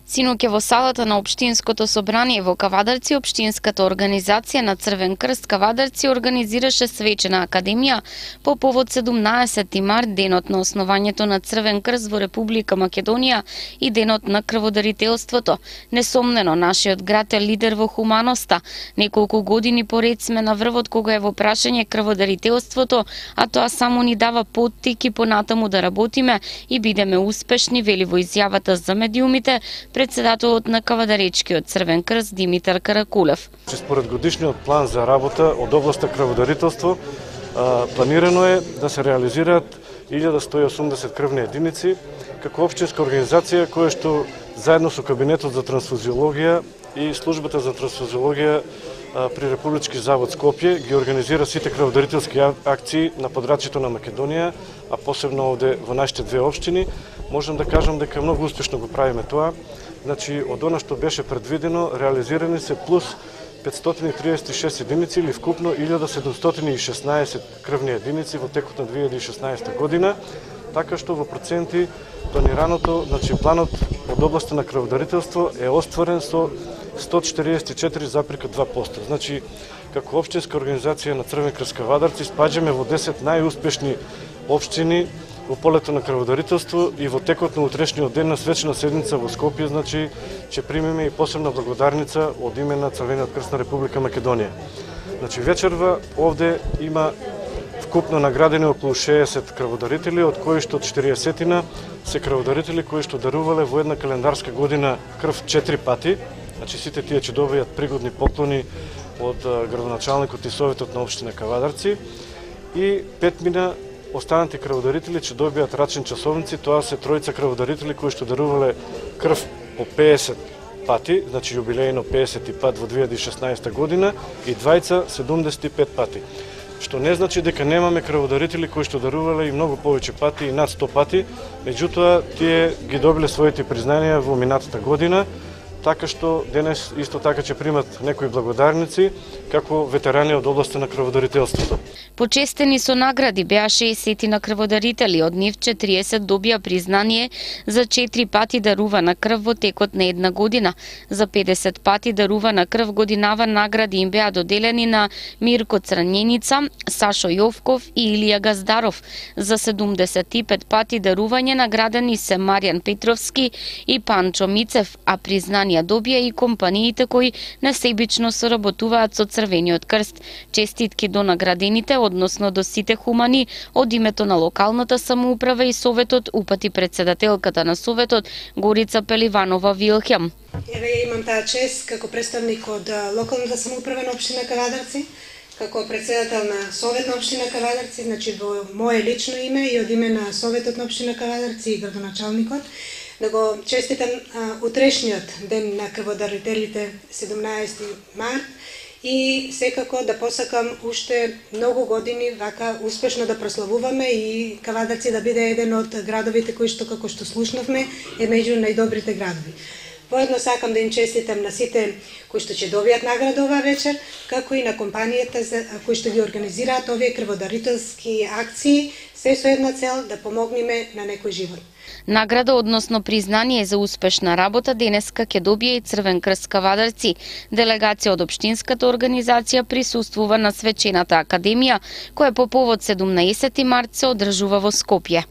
Синоќа во салата на Општинското собрание во Кавадарци, Општинската организација на Црвен крст Кавадарци организираше свечена академија по повод 17 март, денот на основањето на Црвен крст во Република Македонија и денот на крводарителството. Несомнено, нашиот град е лидер во хуманоста. Неколку години поред сме на врвот кога е во прашање крводарителството, а тоа само ни дава поттик и понатаму да работиме и бидеме успешни, вели во изјавата за медиумите председателот на Кавадаречкиот Црвен крст Димитар Каракулев. Според годишниот план за работа од областа крводарителство, планирано е да се реализираат 1180 крвни единици како општинска организација која што заедно со Кабинетот за трансфузиологија и Службата за трансфузиологија при Републички завод Скопје ги организира сите крводарителски акции на подрачјето на Македонија, а посебно овде во нашите две општини. Можам да кажам дека многу успешно го правиме тоа. Значи, од она што беше предвидено, реализирани се плюс 536 единици или вкупно 1716 крвни единици во текот на 2016 година, така што во проценти планираното, значи планот од областа на крводарителство е остварен со 144,2%. Значи, како општинска организација на Црвен крст Кавадарци спаѓаме во 10 најуспешни општини во полето на крводарителство и во текот на утрешниот ден на свечена седница во Скопје, значи, ќе примеме и посебна благодарница од име на Црвениот крст на Република Македонија. Значи, вечерва овде има вкупно наградени околу 60 крводарители, од кои што 40 се крводарители кои што дарувале во една календарска година крв 4 пати. Значи, сите тие ќе добијат пригодни поклони од градоначалникот и советот на општина Кавадарци и 5 останати крводарители ќе добијат рачни часовници. Тоа се тројца крводарители кои што дарувале крв по 50 пати, значи јубилејно 50 пат во 2016 година и двајца 75 пати. Што не значи дека немаме крводарители кои што дарувале и многу повеќе пати и над 100 пати, меѓутоа тие ги добиле своите признанија во минатата година, така што денес исто така ќе примат некои благодарници како ветерани од областа на крводарителството. Почестени со награди беа 60 на крводарители, од нив 40 добија признание за 4 пати дарувана крв во текот на една година. За 50 пати дарувана крв годинава награди им беа доделени на Мирко Цраненица, Сашо Јовков и Илија Газдаров. За 75 пати дарување наградени се Маријан Петровски и Панчо Мицев, а признанија добија и компаниите кои несебично соработуваат со Црвениот крст. Честитки до наградените, односно до сите хумани, од името на локалната самоуправа и советот упати председателката на советот Горица Пеливанова Вилхем. Еве имам таа чест како представник од локалната самоуправа на општина Кавадарци, како председател на совет на општина Кавадарци, значи во мое лично име и од име на советот на општина Кавадарци и градоначалникот, да го честитам утрешниот ден на крводарителите 17 март и секако да посакам уште многу години вака успешно да прославуваме и Кавадарци да биде еден од градовите кои што, како што слушнавме, е меѓу најдобрите градови. Воедно сакам да им честитам на сите кои што ќе добијат награда оваа вечер, како и на компанијата кои што ги организираат овие крводарителски акции, се со една цел да помогнеме на некој живот. Награда, односно признание за успешна работа, денеска ќе добие и Црвен крст Кавадарци. Делегација од општинската организација присуствува на свечената академија, која по повод 17 март се одржува во Скопје.